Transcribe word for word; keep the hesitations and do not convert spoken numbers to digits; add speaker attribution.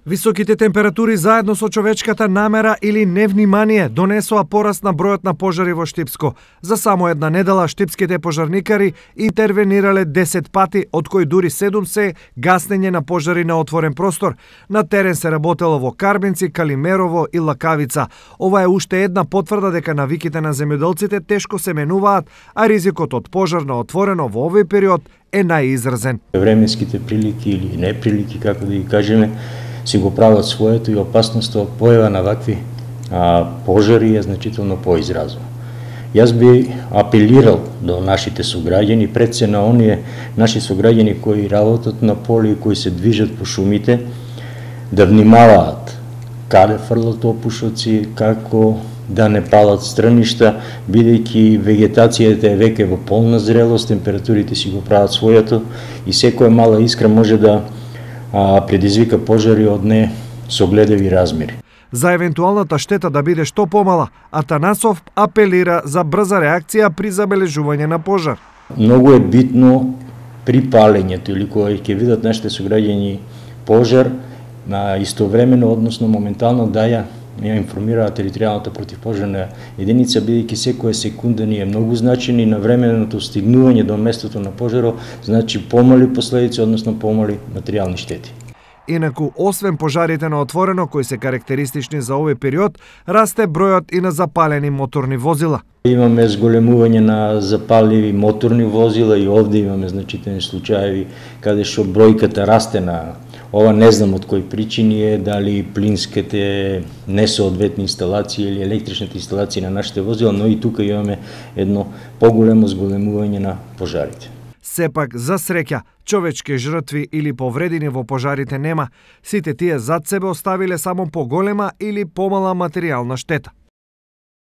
Speaker 1: Високите температури заедно со човечката намера или невнимание донесоа пораст на бројот на пожари во Штипско. За само една недела штипските пожарникари интервенирале десет пати, од кои дури седум се гаснење на пожари на отворен простор. На терен се работело во Карбинци, Калимерово и Лакавица. Ова е уште една потврда дека навиките на земјоделците тешко се менуваат, а ризикот од пожар на отворено во овој период е најизразен.
Speaker 2: Временските прилики или неприлики, како да ги кажеме, си го прават своето и опасноста од појава на вакви а, пожари е значително поизразна. Јас би апелирал до нашите сограѓани, пред се на оние наши сограѓани кои работат на поле и кои се движат по шумите, да внимаваат каде фрлат опушоци, како да не палат страништа, бидејќи вегетацијата е веќе во полна зрелост, температурите си го прават своето и секоја мала искра може да а, предизвика пожари од не согледеви размери.
Speaker 1: За евентуалната штета да биде што помала, Атанасов апелира за брза реакција при забележување на пожар.
Speaker 2: Многу е битно при палењето или кога ќе видат нашите сограѓани пожар, на истовремено, односно моментално да ја ја информираат територијалната противпожарна единица, бидејќи секоја секунда ни е многу значена и навременото стигнување до местото на пожарот значи помали последици, односно помали материјални штети.
Speaker 1: Инаку, освен пожарите на отворено, кои се карактеристични за овој период, расте бројот и на запалени моторни возила.
Speaker 2: Имаме зголемување на запаливи моторни возила и овде имаме значителни случаи каде што бројката расте на ова, не знам од кои причини е, дали плинските несоодветни инсталации или електричните инсталации на нашите возила, но и тука имаме едно поголемо зголемување на пожарите.
Speaker 1: Сепак, за среќа, човечки жртви или повредени во пожарите нема. Сите тие зад себе оставиле само поголема или помала материјална штета.